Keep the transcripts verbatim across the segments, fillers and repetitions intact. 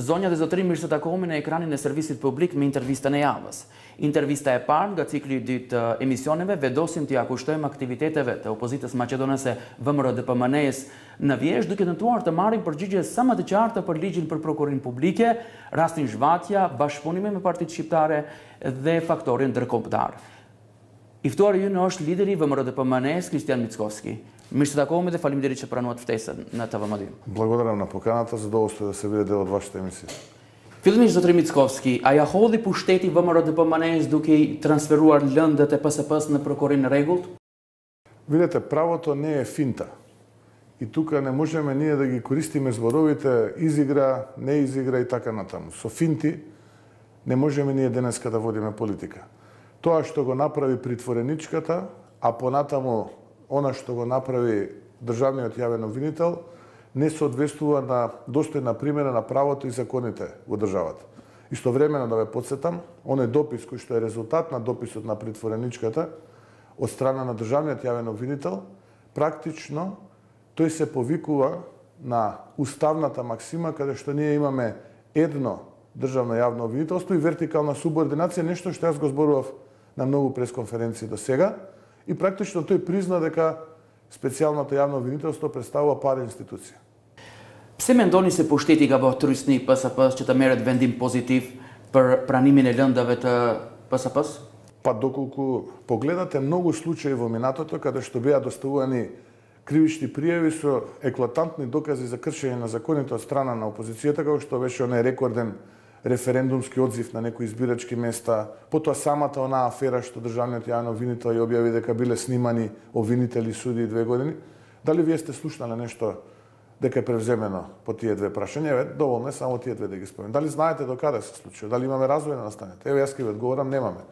Zonja dhe zotërim, mirë se takohemi në ekranin e servisit publik me intervistën e javës. Intervista e parë nga cikli i dytë të emisioneve vedosim t'i akushtojmë aktiviteteve të opozitës maqedonase V M R D P M N-s në Vjeshtë, duke tentuar të marrin përgjigje sa më të qarta për ligjin për prokurorin publike, rastin zhvatja, bashkëpunime me partitë shqiptare dhe faktorin ndërkombëtar. I ftuari ynë është lideri i V M R D P M N-s, Kristian Mickovski. Mirë se takohemi dhe faleminderit që pranuat ftesën në T V M dy. Благодарам на поканата, задоволство да се биде дел од вашата емисија. Fillimisht zotëri Mickovski, a ja hodhi pushteti V M R D P M N-s duke i transferuar lëndët e P S P-s në prokurorin në rregullt? Видете, правото не е финта. И тука не можеме ние да ги користиме зборовите изигра, не изигра и така натаму. Со финти не можеме ние денеска да водиме политика. Тоа што го направи притвореничката, а понатаму она што го направи државниот јавен обвинител, не соодветствува на достојна примера на правото и законите во државата. Истовремено да ве потсетам, оној допис кој што е резултат на дописот на притвореничката од страна на државниот јавен обвинител, практично тој се повикува на уставната максима каде што ние имаме едно државно јавно обвинителство и вертикална субординација, нешто што јас го зборував на многу пресконференции до сега. И практично тој призна дека специјалното јавно обвинителство представува пара институција. Pse mendoni se pushteti ka bërë trysni P S P-s që të merret vendim pozitiv për pranimin e lëndave të P S P-s? Па доколку погледате многу случаи во минатото каде што беа доставувани кривични пријави со еклатантни докази за кршење на законите од страна на опозицијата, како што беше оној рекорден референдумски одзив на некои избирачки места, потоа самата онаа афера што државниот јавен обвинител ја објави дека биле снимани обвинители и суди две години. Дали вие сте слушнале нешто дека е превземено по тие две прашања? Еве, доволно е само тие две да ги споменам. Дали знаете до каде се случило? Дали имаме развој на настаните? Еве, јас ќе ви одговорам, немаме.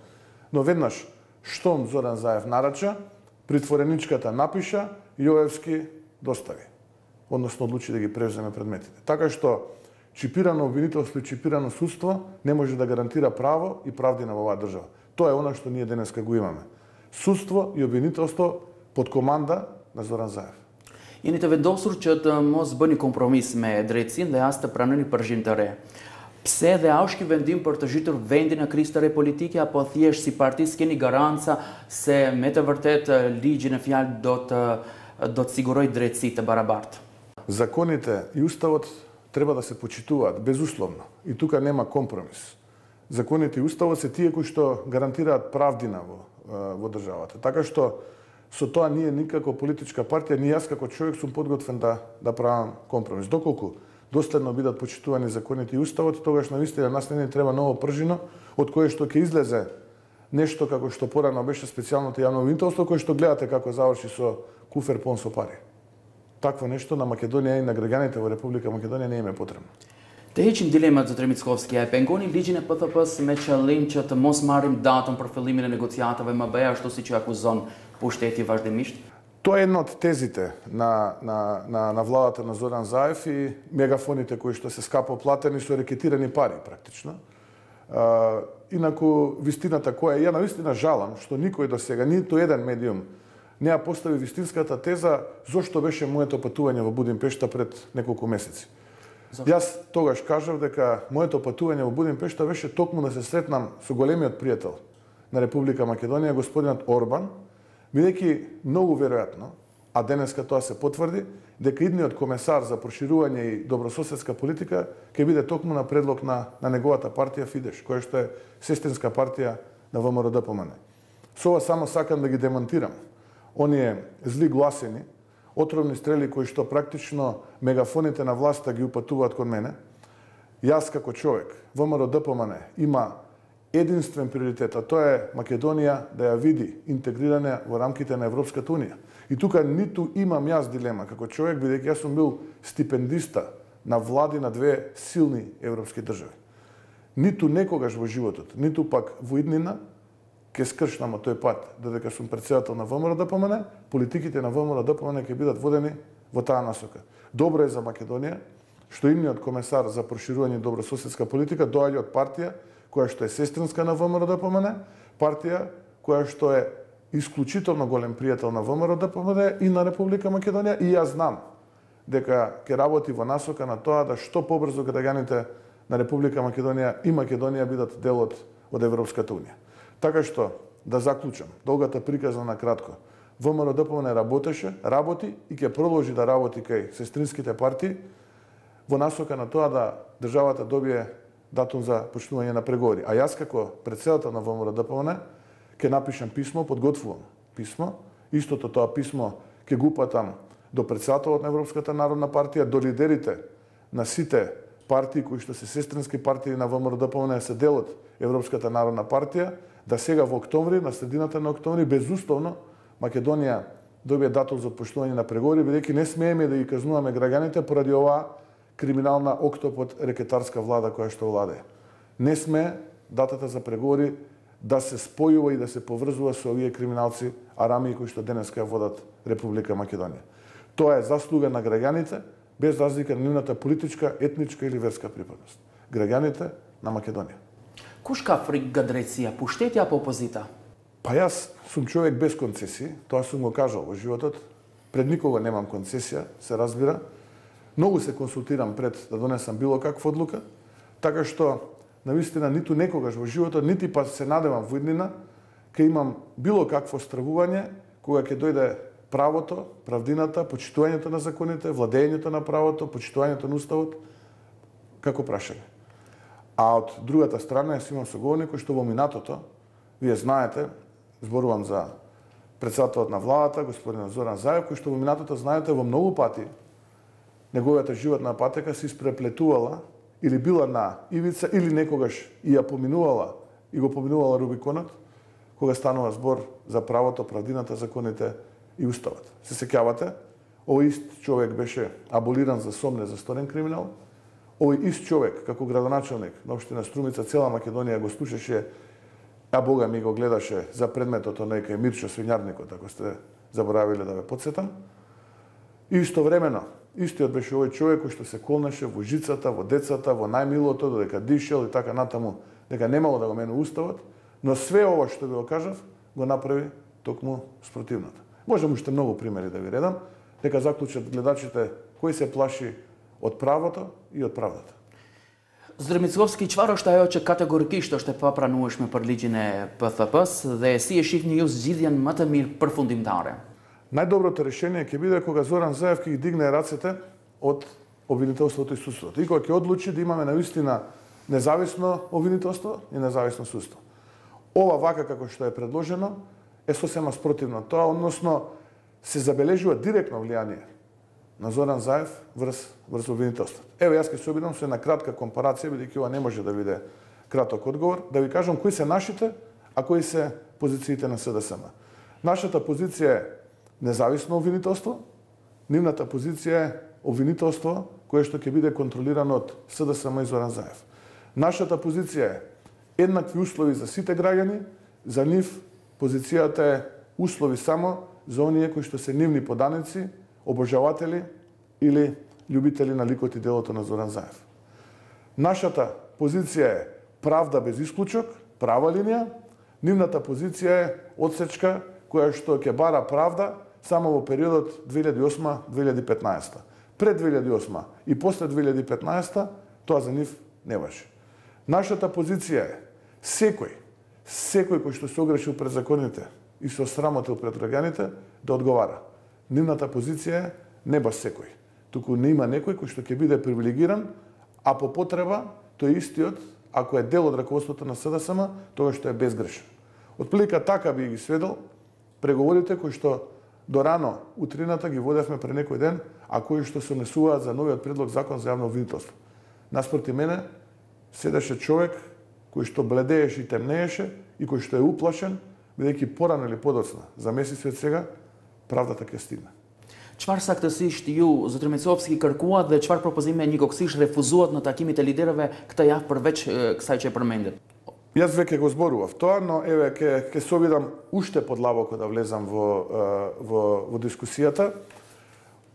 Но веднаш, штом Зоран Заев нарача, притвореничката напиша, Јоевски достави. Односно одлучи да ги превземе предметите. Така што чипирано обвинителство и чипирано судство не може да гарантира право и правдина во оваа држава. Тоа е она што ние денеска го имаме. Судство и обвинителство под команда на Зоран Заев. Jeni të vendosur që të mos bëni kompromis me drejtësinë dhe as të pranoni përgjigje të re. Pse dhe a është ky vendim për të zhytur vendin në krizë të re politike apo thjesht si parti s'keni garanca se me të vërtet ligji në fjalë do të do të sigurojë drejtësi të barabartë? Законите и уставот треба да се почитуваат безусловно. И тука нема компромис. Законите и уставот се тие кои што гарантираат правдина во, во државата. Така што со тоа ние никако политичка партија, ни јас како човек сум подготвен да, да правам компромис. Доколку доследно бидат почитувани законите и уставот, тогаш навистина нас не ни треба ново пржино, од кое што ќе излезе нешто како што порано беше специјалното јавно обвинителство, кое што гледате како заврши со куфер пон со пари. Такво нешто на Македонија и на граѓаните во Република Македонија не им е потребно. Të heqim dilemat, zotëri Mickovski, e pengoni ligjin e P S P-s me qëllim që të mos marrim datën për fillimin e negociatave më B, ashtu siç e akuzon pushteti vazhdimisht? Тоа е една од тезите на, на, на, на владата на Зоран Заев и мегафоните кои што се скапо платени со рекетирани пари практично. А, инаку вистината која ја навистина жалам што никој до сега, ниту еден медиум не ја постави вистинската теза зошто беше моето патување во Будимпешта пред неколку месеци. Зашто? Јас тогаш кажав дека моето патување во Будимпешта беше токму да се сретнам со големиот пријател на Република Македонија, господинот Орбан, бидејќи многу веројатно, а денеска тоа се потврди, дека идниот комесар за проширување и добрососедска политика ќе биде токму на предлог на, на неговата партија Фидеш, која што е сестринска партија на В М Р Д П М Н. Со ова само сакам да ги демонтирам оние зли гласини, отровни стрели кои што практично мегафоните на власта ги упатуваат кон мене. Јас како човек, В М Р Д П М Н има единствен приоритет, а тоа е Македонија да ја види интегрирана во рамките на Европската Унија. И тука ниту имам јас дилема како човек, бидејќи јас сум бил стипендиста на влади на две силни европски држави. Ниту некогаш во животот, ниту пак во иднина ќе скршнам тој пат, додека сум претседател на В М Р Д П М Н, политиките на В М Р Д П М Н ќе бидат водени во таа насока. Добро е за Македонија што имниот комесар за проширување и добрососедска политика доаѓа од партија која што е сестринска на В М Р Д П М Н, партија која што е исклучително голем пријател на В М Р Д П М Н и на Република Македонија, и јас знам дека ќе работи во насока на тоа да што побрзо граѓаните на Република Македонија и Македонија бидат дел од, од Европската унија. Така што, да заклучам, долгата приказна на кратко, ВМРО-ДПМН работеше, работи и ќе продолжи да работи кај сестринските партии во насока на тоа да државата добие датум за почнување на преговори. А јас како претседател на ВМРО-ДПМН ќе напишам писмо, подготвувам писмо, истото тоа писмо ќе го упатам до претседателот на Европската народна партија, до лидерите на сите партии кои што се сестрински партии на ВМРО-ДПМН се дел од Европската народна партија, да сега во октомври, на средината на октомври, безусловно Македонија добие датум за почнување на преговори, бидејќи не смееме да ги казнуваме граѓаните поради оваа криминална октопод рекетарска влада која што владее. Не сме датата за преговори да се спојува и да се поврзува со овие криминалци арамии кои што денеска ја водат Република Македонија. Тоа е заслуга на граѓаните, без разлика на нивната политичка, етничка или верска припадност. Граѓаните на Македонија. Кушка фригадреција, пуштетја по опозита? Па јас сум човек без концесии, тоа сум го кажал во животот. Пред никога немам концесија, се разбира. Многу се консултирам пред да донесам било каква одлука, така што навистина ниту некогаш во животот, нити па се надевам во иднина, ќе имам било какво стравување кога ќе дојде правото, правдината, почитувањето на законите, владењето на правото, почитувањето на уставот, како прашање. А од другата страна јас имам соговорник кој што во минатото, вие знаете, зборувам за претседателот на владата, господин Зоран Заев, кој што во минатото, знаете, во многу пати неговата животна патека се испреплетувала или била на ивица, или некогаш и ја поминувала, и го поминувала Рубиконот, кога станува збор за правото, правдината, законите и уставот. Се сеќавате, овој ист човек беше аболиран за сомне за сторен криминал, овој ист човек, како градоначелник на општина Струмица, цела Македонија го слушаше, а Бога ми го гледаше за предметот на некој Мирчо Свињарникот, ако сте заборавиле да ве потсетам. И истовремено, истиот беше овој човек кој што се колнеше во жицата, во децата, во најмилото, додека дишел и така натаму, дека немало да го мене уставот, но све ова што ви го кажав, го направи токму спротивното. Можам уште многу примери да ви редам, дека заклучат гледачите кој се плаши од правото и од правдата. Здравмицовски чваро што е оче категорикisht është e papranueshme për ligjin e P T P-s dhe si e shihni ju zgjidhjen më të mirë përfundimtare? Најдоброто решение ќе биде кога Зоран Заев ќе ги дигне рацете од обвинителството и судството. И кога ќе одлучи да имаме навистина независно обвинителство и независно судство. Ова вака како што е предложено е сосема спротивно тоа, односно се забележува директно влијание на Зоран Заев врз врз обвинителството. Еве јас ќе се обидам со една кратка компарација, бидејќи ова не може да биде краток одговор, да ви кажам кои се нашите, а кои се позициите на С D S M. Нашата позиција е независно обвинителство, нивната позиција е обвинителство кое што ќе биде контролирано од С D S M и Зоран Заев. Нашата позиција е еднакви услови за сите граѓани, за нив позицијата е услови само за оние кои што се нивни поданици, обожаватели или љубители на ликот и делото на Зоран Заев. Нашата позиција е правда без исклучок, права линија, нивната позиција е одсечка која што ќе бара правда само во периодот две илјади и осма - две илјади и петнаесета. Пред две илјади и осма и после две илјади и петнаесета тоа за нив не важи. Нашата позиција е секој, секој кој што се огрешил пред законите и се осрамотил пред граѓаните да одговара. Нивната позиција е не баш секој, туку не има некој кој што ќе биде привилегиран, а по потреба тој истиот, ако е дел од раководството на С D S M, тоа што е безгрешен. Отприлика така би ги сведел преговорите кои што до рано утрината ги водевме пред некој ден, а кои што се однесуваат за новиот предлог закон за јавно обвинителство. Наспроти мене седеше човек кој што бледееше и темнееше и кој што е уплашен, бидејќи порано или подоцна, за месеци од сега, правдата ќе стигне. Çfarë saktësisht ju, zotër Micovski, kërkuat dhe çfarë propozime njëkohësisht refuzuat në takimet e liderëve këtë javë përveç kësaj që e përmendet? Јас веќе го зборував тоа, но еве ќе ќе се обидам уште подлабоко да влезам во во во дискусијата.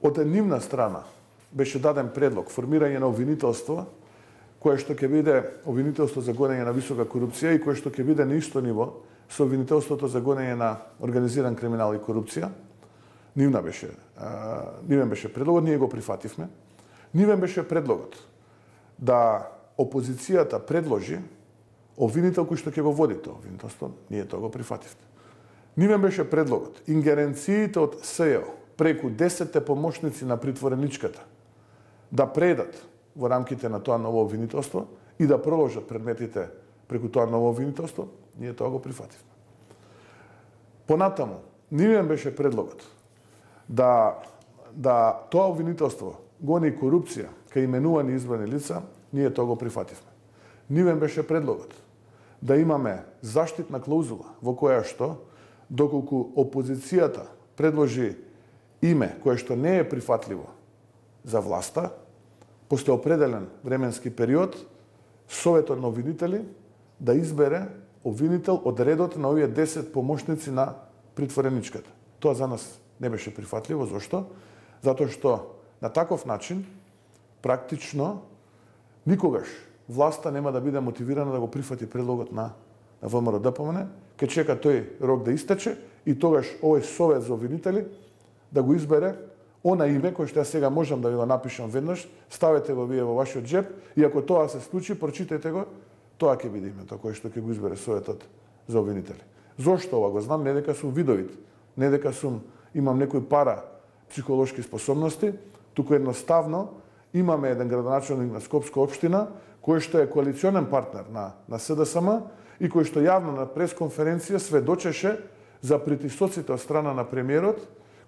Од нивна страна беше даден предлог формирање на обвинителство кое што ќе биде обвинителство за гонење на висока корупција и кое што ќе биде на исто ниво со обвинителството за гонење на организиран криминал и корупција. Нивна беше, нивен беше предлогот, ние го прифативме. Нивен беше предлогот да опозицијата предложи обвинител кој што ќе го води тоа обвинителство, ние тоа го прифативме. Нивен беше предлогот ингеренциите од СЈО преку десетте помошници на притвореничката да предат во рамките на тоа ново обвинителство и да продолжат предметите преку тоа ново обвинителство, ние тоа го прифативме. Понатаму, нивен беше предлогот да, да тоа обвинителство гони корупција кај именувани избрани лица, ние тоа го прифативме. Нивен беше предлогот да имаме заштитна клаузула во која што, доколку опозицијата предложи име кое што не е прифатливо за власта, после определен временски период, Советот на обвинители да избере обвинител од редот на овие десет помошници на притвореничката. Тоа за нас не беше прифатливо. Зошто? Затоа што на таков начин, практично, никогаш власта нема да биде мотивирана да го прифати предлогот на ВМРО-ДПМН, ке чека тој рок да истече и тогаш овој Совет за обвинители да го избере она име кој што ја сега можам да ви го напишам веднаш, ставете го вие во вашиот джеп и ако тоа се случи, прочитајте го, тоа ќе биде името кој што ќе го избере Советот за обвинители. Зошто ова го знам? Не дека сум видовит, не дека сум имам некој пара психолошки способности, туку едноставно имаме еден градоначелник на Скопска општина кој што е коалиционен партнер на на СДСМ и кој што јавно на пресконференција сведочеше за притисоците од страна на премиерот,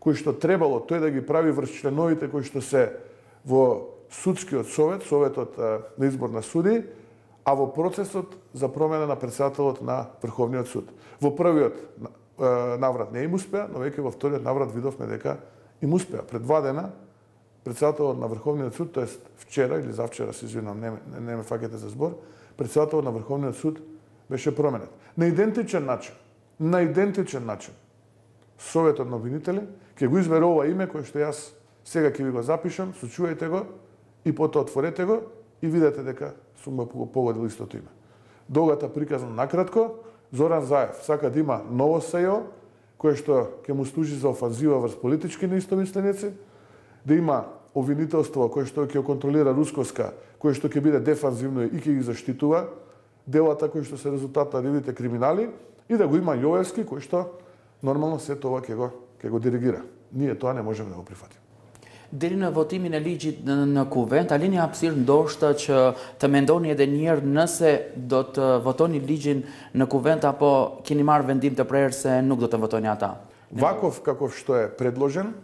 кој што требало тој да ги прави врз членовите кои што се во судскиот совет, советот на избор на суди, а во процесот за промена на претседателот на Врховниот суд. Во првиот наврат не им успеа, но веќе во вториот наврат видовме дека им успеа. Пред два дена претседателот на Врховниот суд, тоест вчера или завчера, се извинувам, не, не, не ме фаќате за збор, претседателот на Врховниот суд беше променет. На идентичен начин, на идентичен начин, Советот на обвинители ќе го избере ова име кое што јас сега ќе ви го запишам, сочувајте го и потоа отворете го и видете дека сум го погодил истото име. Долгата приказна накратко, Зоран Заев сака да има ново СЈО кое што ќе му служи за офанзива врз политички неистомисленици, да има обвинителство кое што ќе контролира рускоска, кое што ќе биде дефанзивно и ќе ги заштитува делата кои што се резултат на нивните криминали и да го има Јовевски кој што нормално се тоа ќе го ќе го диригира. Ние тоа не можеме да го прифатиме. Deri në votimin e ligjit në kuvent, a lini hapësirë ndoshta që të mendoni edhe një herë nëse do të votoni ligjin në kuvent apo keni marrë vendim të prerë se nuk do të votoni ata? Ваков каков што е предложен,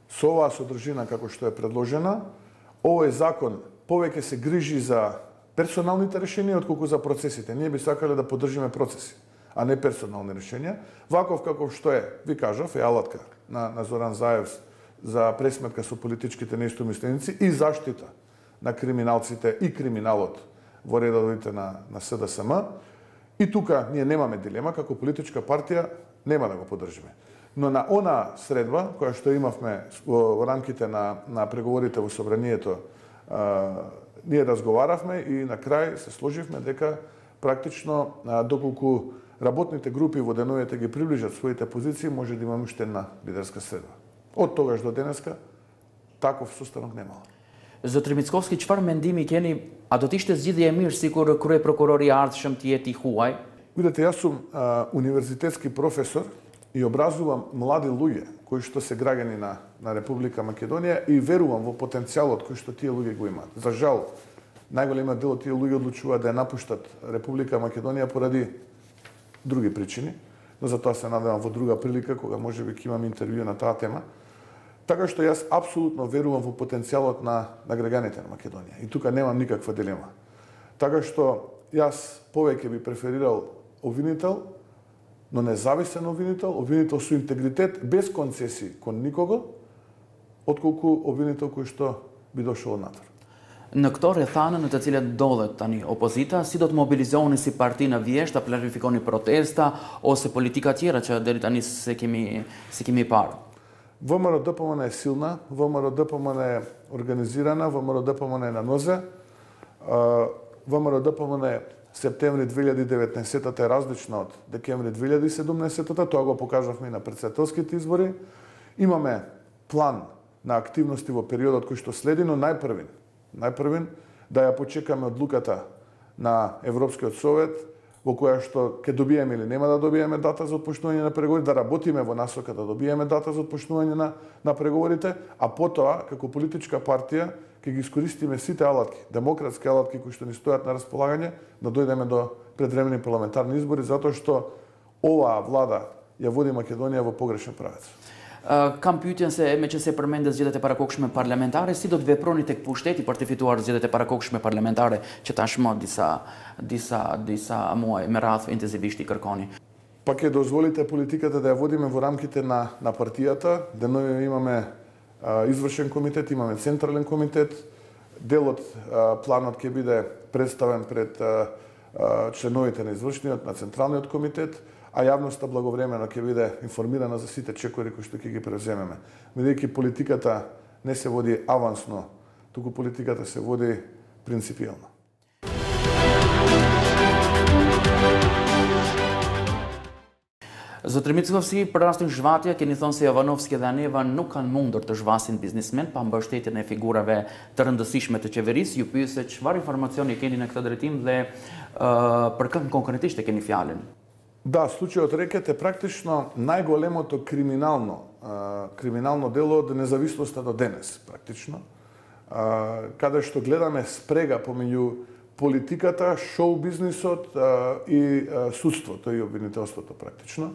со оваа содржина како што е предложена, овој закон повеќе се грижи за персоналните решенија отколку за процесите. Ние би сакале да поддржиме процеси, а не персонални решенија. Ваков каков што е, ви кажав, е алатка на, на Зоран Заев за пресметка со политичките неистомисленици и заштита на криминалците и криминалот во редовите на, на СДСМ. И тука ние немаме дилема, како политичка партија нема да го поддржиме. Но на она средба, која што имавме во, во рамките на, на преговорите во Собранието, а, ние разговаравме и на крај се сложивме дека практично, а, доколку работните групи во деновите ги приближат своите позиции, може да имаме уште една лидерска средба. Од тогаш до денеска таков состанок немало. Zotri Mickovski, çfarë mendimi keni, a do të ishte zgjidhje e mirë sikur krye prokurori i ardhshëm të jetë i huaj? Видете, јас сум а, универзитетски професор и образувам млади луѓе кои што се граѓани на на Република Македонија и верувам во потенцијалот кој што тие луѓе го имаат. За жал, најголемиот дел од тие луѓе одлучуваат да ја напуштат Република Македонија поради други причини, но за тоа се надевам во друга прилика кога можеби ќе имам интервју на таа тема. Така што јас апсолутно верувам во потенцијалот на, на граѓаните на Македонија. И тука немам никаква дилема. Така што јас повеќе би преферирал обвинител, но независен обвинител, обвинител со интегритет, без концесии кон никого, отколку обвинител кој што би дошол надвор. Në këto rrethana në të cilat ndodhet tani opozita, si do të mobilizoheni si parti në vjesht, a planifikoni protesta ose politika tjera që deri tani se kemi se kemi parë? ВМРО-ДПМН е силна, ВМРО-ДПМН е организирана, ВМРО-ДПМН е на нозе. ВМРО-ДПМН септември две илјади и деветнаесетта е различна од декември две илјади и седумнаесетта, тоа го покажавме и на претседателските избори. Имаме план на активности во периодот кој што следи, но најпрвин, најпрвин да ја почекаме одлуката на Европскиот совет, во која што ќе добиеме или нема да добиеме дата за отпочнување на преговори, да работиме во насока да добиеме дата за отпочнување на, на преговорите, а потоа, како политичка партија, ќе ги искористиме сите алатки, демократски алатки кои што ни стојат на располагање, да дојдеме до предвремени парламентарни избори, затоа што оваа влада ја води Македонија во погрешен правец. Kam pyetjen se me që se përmendë zgjedhjet e parakohshme parlamentare, si do të veproni tek pushteti për të fituar zgjedhjet e parakohshme parlamentare që tashmë disa disa disa muaj me radhë intenzivisht i kërkoni? Па ќе дозволите политиката да ја водиме во рамките на на партијата, денови имаме а, извршен комитет, имаме централен комитет, делот а, планот ќе биде представен пред а, а, членовите на извршниот на централниот комитет, а јавноста благовремено ќе биде информирана за сите чекори кои што ќе ги преземеме. Бидејќи политиката не се води авансно, туку политиката се води принципијално. Zotër Mickovski, për rastin zhvatja, keni thonë se Jovanovski dhe Aneva nuk kanë mundur të zhvasin biznismen pa mbështetjen e figurave të rëndësishme të qeverisë. Ju pyet se çfarë informacioni keni në këtë drejtim dhe uh, për kë konkretisht e keni fjalën? Да, случајот Рекет е практично најголемото криминално а, криминално дело од независноста до денес, практично. А, каде што гледаме спрега помеѓу политиката, шоу бизнисот а, и а, судството и обвинителството практично.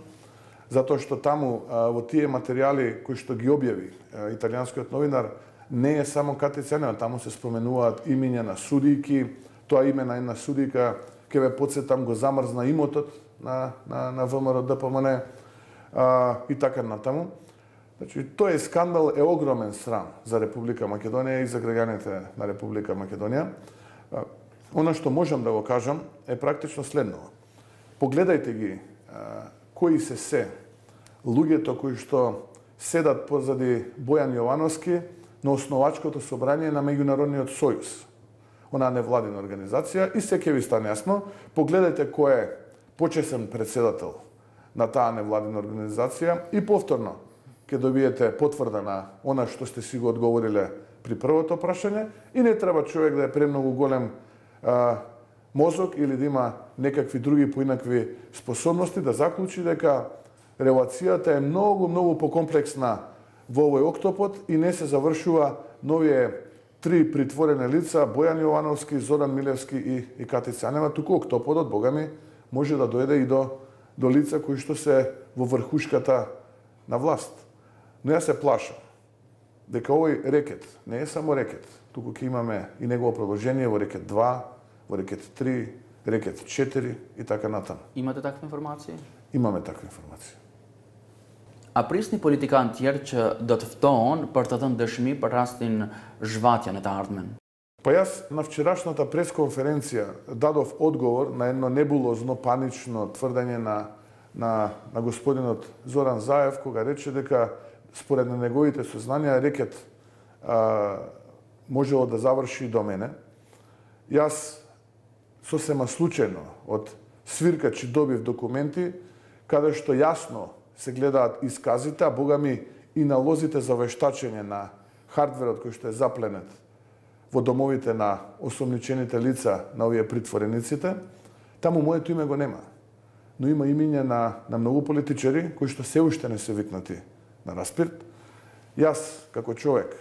Затоа што таму а, во тие материјали кои што ги објави а, италијанскиот новинар не е само Кати Цанева, таму се споменуваат имиња на судијки, тоа име на една судијка ќе ве потсетам го замрзна имотот на на на ВМРО Д П М Н а, и така натаму. Значи тој скандал е огромен срам за Република Македонија и за граѓаните на Република Македонија. А, Она што можам да го кажам е практично следното. Погледајте ги а, кои се се луѓето кои што седат позади Бојан Јовановски на основачкото собрание на Меѓународниот сојуз, онаа невладина организација, и се ќе ви стане јасно. Погледајте кој е почесен председател на таа невладина организација и повторно ќе добиете потврда на она што сте си го одговориле при првото прашање и не треба човек да е премногу голем а, мозок или да има некакви други поинакви способности да заклучи дека релацијата е многу, многу покомплексна во овој октопод и не се завршува новие три притворени лица, Бојан Јовановски, Зоран Милевски и, и Кати Цанева, туку октоподот, богами, може да дојде и до, до лица кои што се во врхушката на власт. Но јас се плашам дека овој рекет не е само рекет, туку ќе имаме и негово продолжение во рекет два, во рекет три, рекет четири и така натаму. Имате таква информација? Имаме таква информација. A prisni politikanë tjerë që do të ftohen për të dhënë dëshmi për rastin zhvatja në të ardhmen? Па јас на вчерашната пресконференција дадов одговор на едно небулозно, панично тврдење на, на, на господинот Зоран Заев, кога рече дека според неговите сознанија рекет а, можело да заврши до мене. Јас сосема случајно од свиркачи добив документи каде што јасно се гледаат исказите, а богами и налозите за вештачење на хардверот кој што е запленет во домовите на осомничените лица на овие притворениците. Таму моето име го нема. Но има имиња на, на многу политичари кои што се уште не се викнати на распирт. Јас, како човек,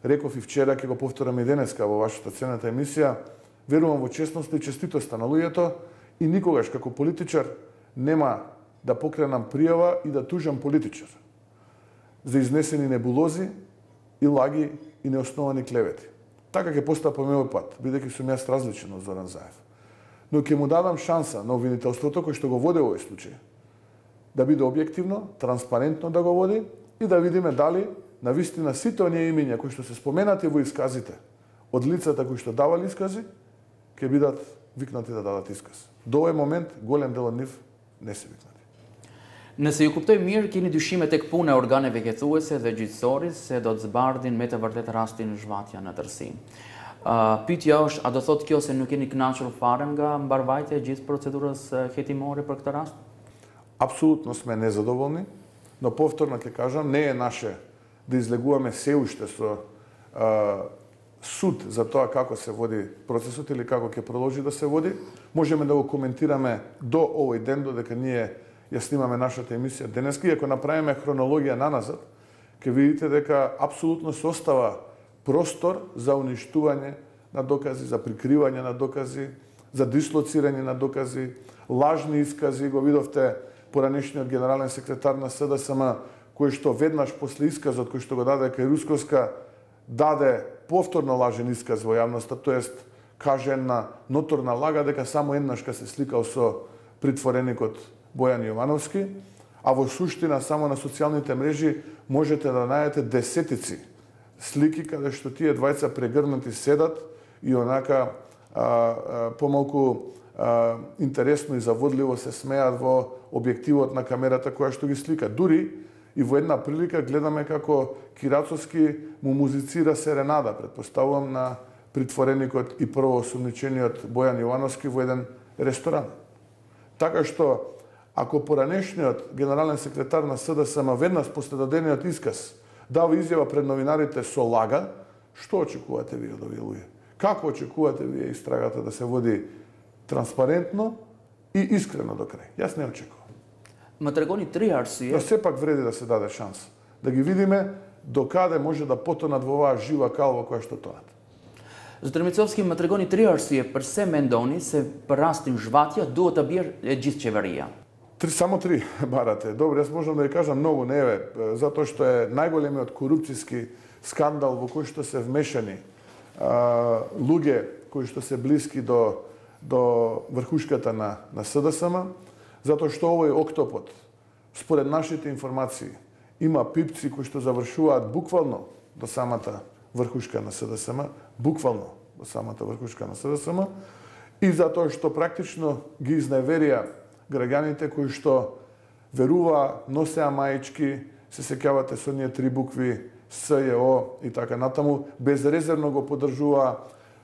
реков и вчера, ќе го повторам и денеска во вашата ценета емисија, верувам во честност и честитоста на луѓето и никогаш како политичар нема да покренам пријава и да тужам политичар за изнесени небулози и лаги и неосновани клевети. Така ќе постапам овој пат, бидејќи сум јас различен од Зоран Заев. Но ќе му дадам шанса на обвинителството кој што го води овој случај да биде објективно, транспарентно да го води и да видиме дали на вистина сите оние имиња кои што се споменати во исказите од лицата кои што давале искази ќе бидат викнати да дадат исказ. До овој момент голем дел од нив не се викнати. Nëse ju kuptoj mirë, keni dyshime tek puna e organeve hetuese dhe gjyqësoris se do të zbardhin me të vërtet rastin zhvatja në tërësi. Uh, Pyetja është, a do thotë kjo se nuk keni kënaqur fare nga mbarvajtja e gjithë procedurës hetimore për këtë rast? Апсолутно сме незадоволни, но повторно ќе кажам, не е наше да излегуваме се уште со а, суд за тоа како се води процесот или како ќе продолжи да се води. Можеме да го коментираме до овој ден, додека ние ја снимаме нашата емисија денеска. И ако направиме хронологија наназад, ќе видите дека апсолутно се остава простор за уништување на докази, за прикривање на докази, за дислоцирање на докази, лажни искази. Го видовте поранешниот генерален секретар на СДСМ, кој што веднаш после исказот кој што го даде кај Русковска, даде повторно лажен исказ во јавноста, тоест каже една ноторна лага дека само еднаш ка се сликал со притвореникот Бојан Јовановски, а во суштина само на социјалните мрежи можете да најдете десетици слики каде што тие двајца прегрнати седат и онака а, а, помалку а, интересно и заводливо се смеат во објективот на камерата која што ги слика. Дури и во една прилика гледаме како Кирацовски му музицира серенада, предпоставувам, на притвореникот и првоосумничениот Бојан Јовановски во еден ресторан. Така што, ако поранешниот генерален секретар на СДСМ веднаш после дадениот исказ дава изјава пред новинарите со лага, што очекувате вие од овие луѓе? Како очекувате вие истрагата да се води транспарентно и искрено до крај? Јас не очекувам. Матрагони три арсија. Но сепак вреди да се даде шанс. Да ги видиме до каде може да потонат во оваа жива калва која што тонат. Зотримицовски матрагони три арсија per se mendoni se për rastin zhvatja duhet të bjerë e gjithë qeveria. Три, само три барате. Добро, јас можам да ви кажам многу, не е, затоа што е најголемиот корупцијски скандал во кој што се вмешани а, луѓе кои што се блиски до до врхушката на на СДСМ, затоа што овој октопод, според нашите информации, има пипци кои што завршуваат буквално до самата врхушка на СДСМ, буквално до самата врхушка на СДСМ, и затоа што практично ги изневерија граѓаните кои што верува, носеа маички, се сеќавате со ние три букви С, Ј, О и така натаму, безрезервно го поддржува.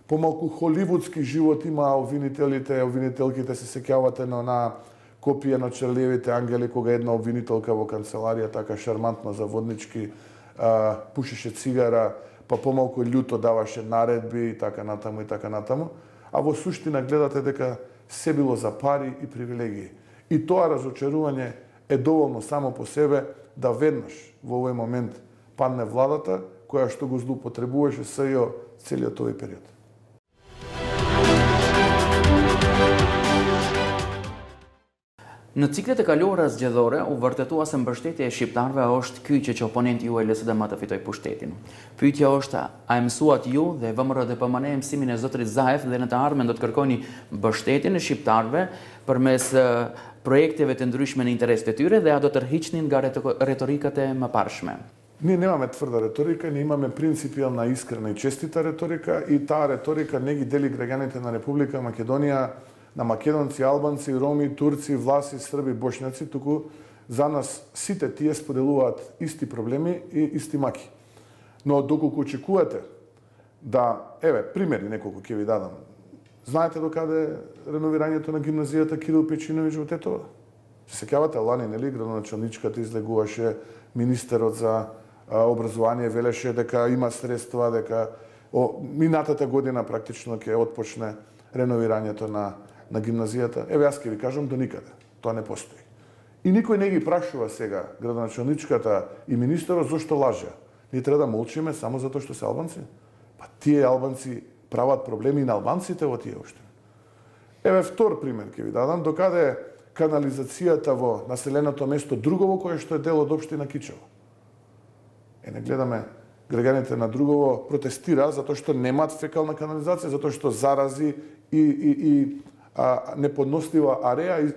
Помалку холивудски живот има обвинителите, обвинителките, се сеќавате на на копија на Чарлиевите ангели, кога една обвинителка во канцеларија така шармантно заводнички а, пушеше цигара, па помалку љуто даваше наредби и така натаму и така натаму, а во суштина гледате дека се било за пари и привилегии. И тоа разочарување е доволно само по себе да веднаш во овој момент падне владата која што го злоупотребуваше СЈО целиот овој период. Në ciklet e kaluara zgjedhore u vërtetua se mbështetja e shqiptarëve është ky që oponenti juaj L S D M të fitoj pushtetin. Pyetja është, a e mësuat ju dhe V M R D P M N e mësimin e zotrit Zaev dhe në të ardhmen do të kërkoni mbështetjen e shqiptarëve përmes projekteve të ndryshme në interes të tyre dhe a do të tërhiqnin nga retorikat e mëparshme? Ние немаме тврда реторика, ние имаме принципијална, искрена и честита реторика и таа реторика не ги дели граѓаните на Република Македонија на македонци, албанци, роми, турци, власи, срби, бошњаци, туку за нас сите тие споделуваат исти проблеми и исти маки. Но доколку очекувате да, еве, примери неколку ќе ви дадам. Знаете докаде реновирањето на гимназијата Кирил Печиновиќ во Тетово? Се сеќавате лани, нели, градоначалничката излегуваше, министерот за образование велеше дека има средства, дека о, минатата година практично ќе отпочне реновирањето на на гимназијата. Еве јас ќе ви кажам до никаде. Тоа не постои. И никој не ги прашува сега градоначалничката и министерот зошто лаже. Ние треба да молчиме само затоа што се албанци. Па тие албанци прават проблеми и на албанците во тие општини. Еве втор пример ќе ви дадам докаде канализацијата во населеното место Другово кое што е дел од општина Кичево. Е не гледаме граѓаните на Другово протестира затоа што немаат фекална канализација, затоа што зарази и и и а, неподнослива ареа и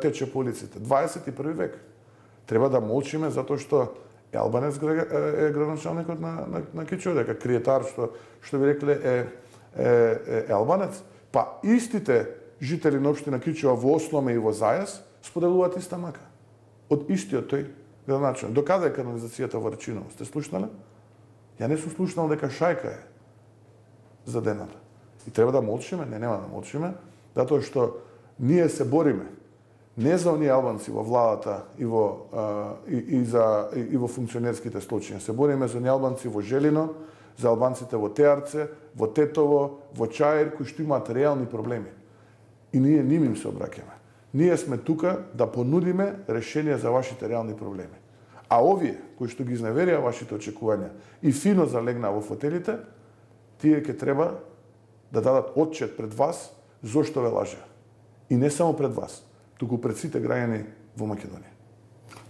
тече по улиците. дваесет и први век. Треба да молчиме затоа што е албанец е градоначалникот на на, на Кичево, дека криетар што што ви рекле е е, е албанец. Па истите жители на општина Кичево во Осломе и во Зајас споделуваат иста мака. Од истиот тој градоначалник. Докаде е канализацијата во Рачиново? Сте слушнале? Ја не сум слушнал дека шајка е задената. И треба да молчиме, не нема да молчиме, затоа што ние се бориме не за оние албанци во владата и во и, и за и, и во функционерските случаи. Се бориме за оние албанци во Желино, за албанците во Теарце, во Тетово, во Чаир, кои што имаат реални проблеми. И ние ним им се обраќаме. Ние сме тука да понудиме решение за вашите реални проблеми. А овие кои што ги изневерија вашите очекувања и фино залегнаа во фотелите, тие ќе треба да дадат отчет пред вас зошто ве лажеа. И не само пред вас, туку пред сите граѓани во Македонија.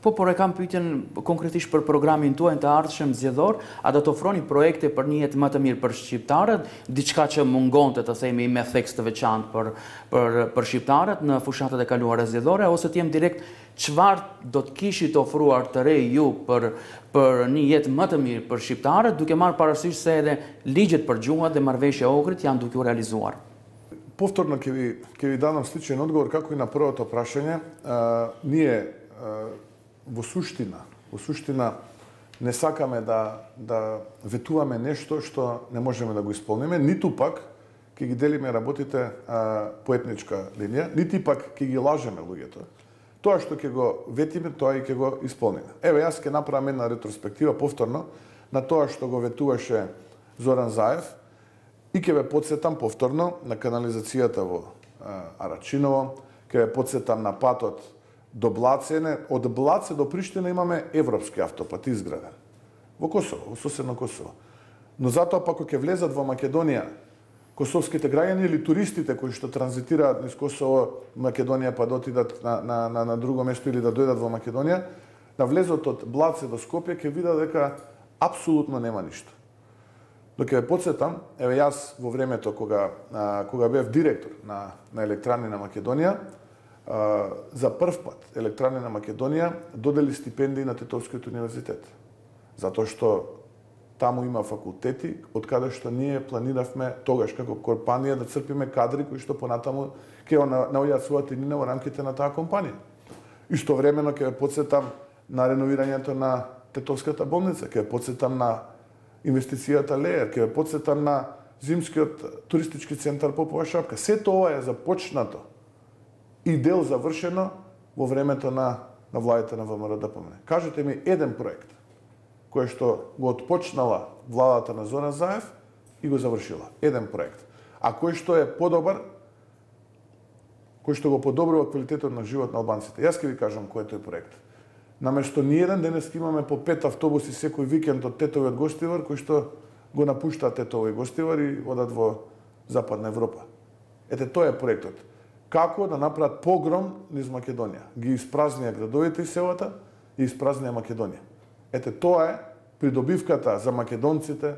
Po, por e kam pyetjen konkretisht për programin tuaj të ardhshëm zgjedhor, a do të ofroni projekte për një jetë më të mirë për shqiptarët, diçka që mungonte të themi me theks të veçantë për për për shqiptarët në fushatat e kaluara zgjedhore, ose të jem direkt çfarë do të kishit ofruar të re ju për për një jetë më të mirë për shqiptarët, duke marrë parasysh se edhe ligjet për gjuhat dhe marrëveshja e Ohrit janë duke u realizuar. Повторно ќе ви ќе ви дадам сличен одговор како и на првото прашање. А, ние а, во суштина, во суштина не сакаме да да ветуваме нешто што не можеме да го исполниме, ниту пак ќе ги делиме работите а, по етничка линија, нити пак ќе ги лажеме луѓето. Тоа што ќе го ветиме, тоа и ќе го исполниме. Еве, јас ќе направам една ретроспектива повторно на тоа што го ветуваше Зоран Заев и ќе ве потсетам повторно на канализацијата во а, Арачиново, ќе ве потсетам на патот до Блацене. Од Блаце до Приштина имаме европски автопат изграден во Косово, во соседно Косово. Но затоа пак кога ќе влезат во Македонија косовските граѓани или туристите кои што транзитираат низ Косово, Македонија па да отидат на, на, на, на друго место или да дојдат во Македонија, на влезот од Блаце до Скопје ќе видат дека апсолутно нема ништо. Но ќе ве потсетам, еве јас во времето кога а, кога бев директор на на Електрани на Македонија, а, за прв пат Електрани на Македонија додели стипендии на Тетовскиот универзитет. Затоа што таму има факултети од каде што ние планиравме тогаш како компанија да црпиме кадри кои што понатаму ќе наоѓаат својата иднина во рамките на таа компанија. Истовремено ќе ве потсетам на реновирањето на Тетовската болница, ќе ве потсетам на инвестицијата Леер, ќе ве потсетам на зимскиот туристички центар Попова шапка. Сето ова е започнато и дел завршено во времето на на владите на ВМРО-ДПМНЕ. Кажете ми еден проект кој што го отпочнала владата на Зоран Заев и го завршила. Еден проект. А кој што е подобар, кој што го подобрува квалитетот на живот на албанците. Јас ќе ви кажам кој е тој проект. Наместо ниеден денес имаме по пет автобуси секој викенд од Тетово и од Гостивар, кои што го напуштаат Тетово и Гостивар и одат во Западна Европа. Ете, тоа е проектот. Како да направат погром низ Македонија. Ги испразнија градовите и селата и испразнија Македонија. Ете, тоа е придобивката за македонците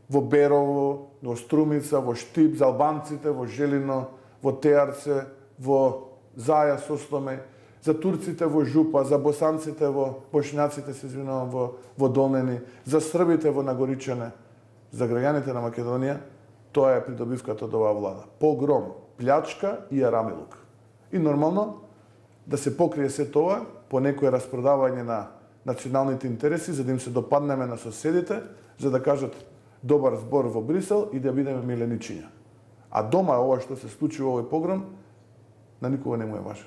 во Берово, во Струмица, во Штип, за албанците во Желино, во Теарце, во Заја, Сосломе, за турците во Жупа, за босанците во бошњаците, се извинувам, во во Долнени, за србите во Нагоричане, за граѓаните на Македонија, тоа е придобивката од оваа влада. Погром, плячка и арамилук. И нормално да се покрие се тоа по некое распродавање на националните интереси, за да им се допаднеме на соседите, за да кажат добар збор во Брисел и да бидеме миленичиња. А дома ова што се случи во овој погром, на никога не му е важен.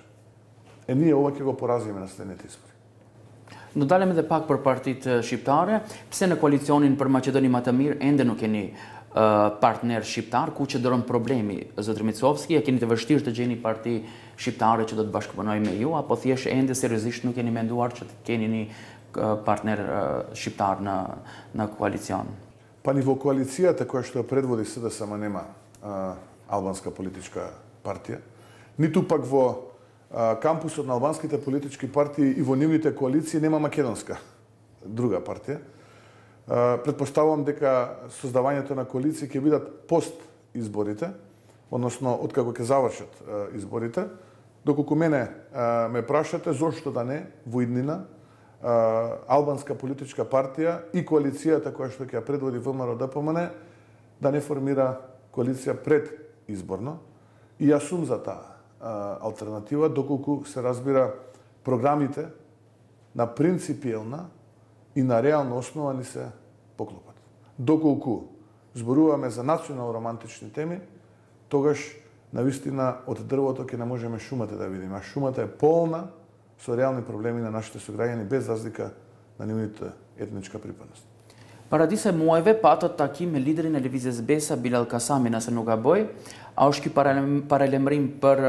Е, ние ова ќе го поразиме на следните избори. Do dalem edhe pak për partitë shqiptare, pse në koalicionin për Maqedoni më të mirë ende nuk keni uh, partner shqiptar, ku që dëron problemi, zotër Micovski, e keni të vështirë të gjeni parti shqiptare që do të bashkëpunoj me ju, apo thjesht ende seriozisht nuk keni menduar që të keni një uh, partner uh, shqiptar në, në koalicion? Па ни во коалицијата која што ја предводи СДСМ нема uh, албанска политичка партија, ниту пак во кампусот на албанските политички партии и во нивните коалиции нема македонска друга партија. Предпоставувам дека создавањето на коалиции ќе бидат пост изборите, односно откако ќе завршат изборите. Доколку мене ме прашате зошто да не во иднина албанска политичка партија и коалицијата која што ќе ја предводи ВМРО-ДПМНЕ да не формира коалиција пред изборно. И јас сум за таа алтернатива, доколку се разбира програмите на принципиелна и на реална основа ни се поклопат. Доколку зборуваме за национално романтични теми, тогаш навистина од дрвото ќе не можеме шумата да видиме, а шумата е полна со реални проблеми на нашите сограѓани без разлика на нивната етничка припадност. Para disa muajve patët takim me liderin e lëvizjes Besa, Bilal Kasami, nëse nuk gaboj, a është ky paralajmërim për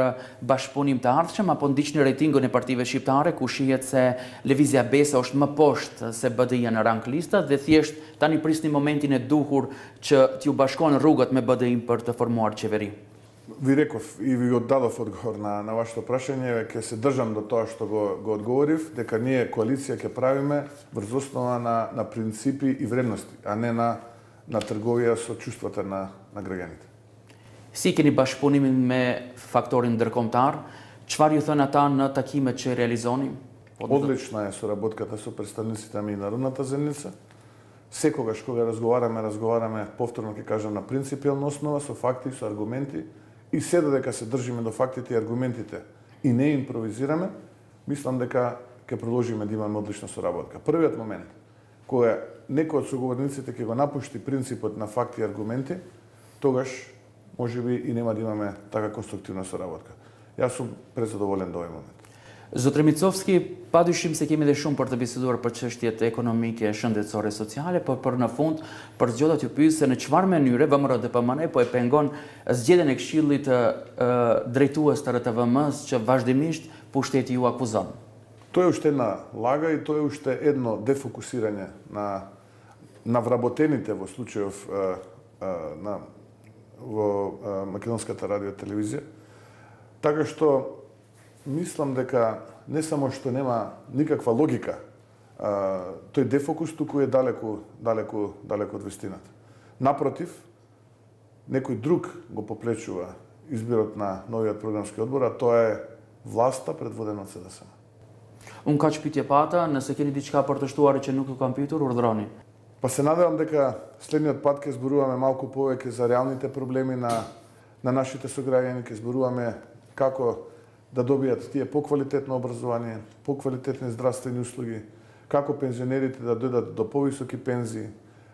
bashkëpunim të ardhshëm apo ndiqni rejtingun e partive shqiptare ku shihet se lëvizja Besa është më poshtë se B D I-ja në rang listat dhe thjesht tani prisni momentin e duhur që t'ju bashkon rrugët me B D I-n për të formuar qeveri? Ви реков и ви оддадов одговор на, на вашето прашање, ќе се држам до тоа што го, го одговорив, дека ние коалиција ќе правиме врз основа на, на принципи и вредности, а не на, на трговија со чувствата на, на граѓаните. Si keni bashkëpunimin me faktorin ndërkombëtar? Çfarë ju thënë ata në takimet që realizoni? Одлична е соработката со представниците на меѓународната заедница. Секогаш кога разговараме, разговараме, повторно ќе кажам, на принципиална основа, со факти, со аргументи, и се додека се држиме до фактите и аргументите и не импровизираме, мислам дека ќе продолжиме да имаме одлична соработка. Првиот момент, кога некој од соговорниците ќе го напушти принципот на факти и аргументи, тогаш можеби и нема да имаме така конструктивна соработка. Јас сум презадоволен до овој момент. Zotri Micovski, padyshim se kemi dhe shumë për të biseduar për çështjet ekonomike, shëndetësore, sociale, por për në fund për zgjolla t'ju pyes se në çfarë mënyre V M R D P M N po e pengon zgjedhjen e Këshillit drejtues të R T V M-s që vazhdimisht pushteti ju akuzon. Тоа е уште една лага и тоа е уште едно дефокусирање на на вработените во случајов на во македонската радио и телевизија. Така што мислам дека не само што нема никаква логика, а, тој дефокус туку е далеку, далеку, далеку од вистината. Напротив, некој друг го попречува изборот на новиот програмски одбор, а тоа е власта предводена од С D S M. Unë ka që pyetje pata, nëse keni diçka për të shtuar që nuk ju kam pyetur, urdhroni. Па се надевам дека следниот пат ќе зборуваме малку повеќе за реалните проблеми на на нашите сограѓани, ќе зборуваме како да добијат тие поквалитетно образование, поквалитетни здравствени услуги, како пензионерите да дојдат до повисоки пензии,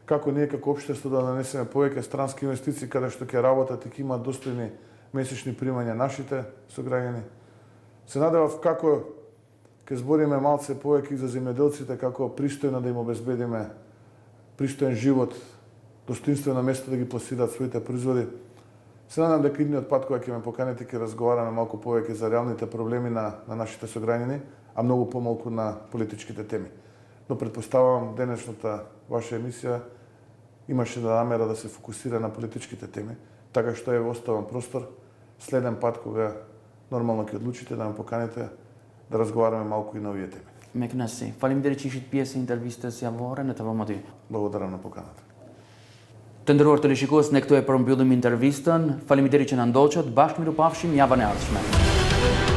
како ние како општество да нанесеме повеќе странски инвестиции каде што ќе работат и ќе имаат достојни месечни примања нашите сограѓани. Се надевав како ќе збориме малце повеќе за земјоделците, како пристојно да им обезбедиме пристоен живот, достоинствено место да ги пласираат своите производи. Се надам дека идниот пат кога ќе ме поканите ќе разговараме малку повеќе за реалните проблеми на, на нашите сограѓани, а многу помалку на политичките теми. Но предпоставувам денешната ваша емисија имаше да намера да се фокусира на политичките теми, така што е оставам простор следен пат кога нормално ќе одлучите да ме поканите да разговараме малку и на овие теми. Me kënaqësi. Faleminderit që ishit pjesë e intervistës javore në T V M dy. Благодарам на поканата. Të nderuar teleshikues, ne këtu e përmbyllim intervistën. Faleminderit që na ndoqët. Bashkë miru pafshim javën e ardhshme.